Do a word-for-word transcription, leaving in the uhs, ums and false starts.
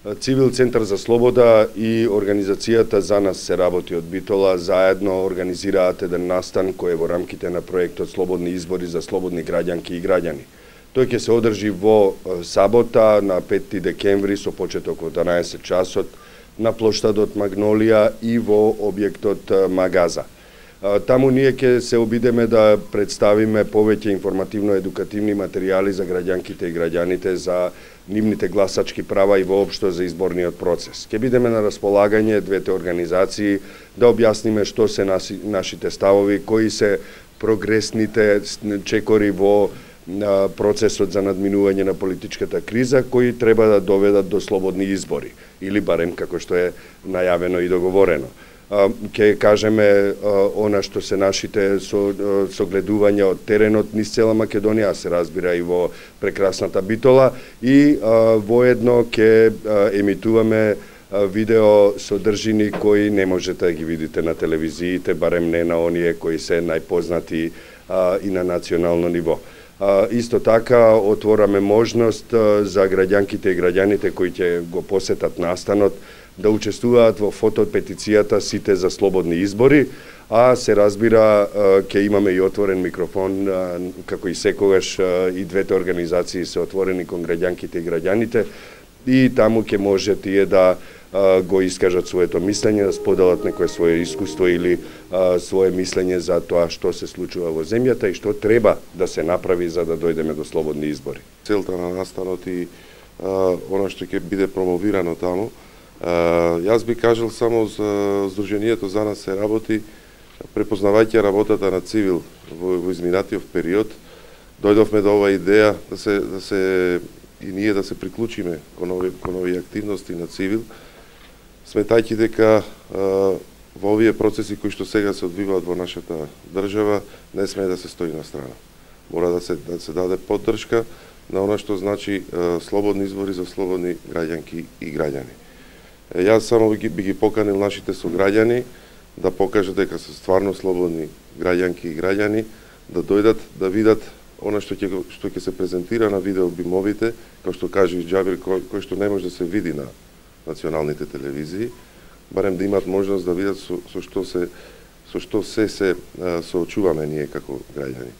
Цивил Центар за слобода и организацијата За нас се работи од Битола заедно организираат еден настан кој е во рамките на проектот Слободни избори за слободни граѓанки и граѓани. Тој ќе се одржи во сабота на петти декември со почеток во дванаесет часот на плоштадот Магнолија и во објектот Магаза. Таму ние ќе се обидеме да представиме повеќе информативно-едукативни материјали за граѓанките и граѓаните за нивните гласачки права и воопшто за изборниот процес. Ќе бидеме на располагање двете организации да објасниме што се наси, нашите ставови, кои се прогресните чекори во процесот за надминување на политичката криза, кои треба да доведат до слободни избори, или барем како што е најавено и договорено. Ќе кажеме она што се нашите согледувања од теренот низ цела Македонија, се разбира и во прекрасната Битола, и воедно ќе емитуваме видео содржини кои не можете да ги видите на телевизиите, барем не на оние кои се најпознати и на национално ниво. Исто така отвораме можност за граѓанките и граѓаните кои ќе го посетат настанот да учествуваат во фотопетицијата Сите за слободни избори, а се разбира ќе имаме и отворен микрофон, како и секогаш и двете организации се отворени кон граѓанките и граѓаните, и таму ќе може тие да го искажат своето мислење, да споделат некое свое искуство или свое мислење за тоа што се случува во земјата и што треба да се направи за да дојдеме до слободни избори. Целта на настанот и она што ќе биде промовирано таму, јас би кажал само за Сдруженијето За нас се работи, препознавајќи работата на Цивил во, во изминатиот период, дојдовме до оваа идеја да се, да се и ние да се приклучиме кон овие, кон овие активности на Цивил, сметајќи дека во овие процеси кои што сега се одвиваат во нашата држава, не смее да се стои на страна. Мора да се, да се даде поддршка на она што значи слободни избори за слободни граѓанки и граѓани. Јас само би ги, би ги поканил нашите сограѓани да покажат дека се стварно слободни граѓанки и граѓани, да дојдат да видат она што ќе што ќе се презентира на видеобимовите, како што каже и Џабир, кој, кој што не може да се види на националните телевизии, барем да имат можност да видат со, со што се со што се се соочуваме ние како граѓани.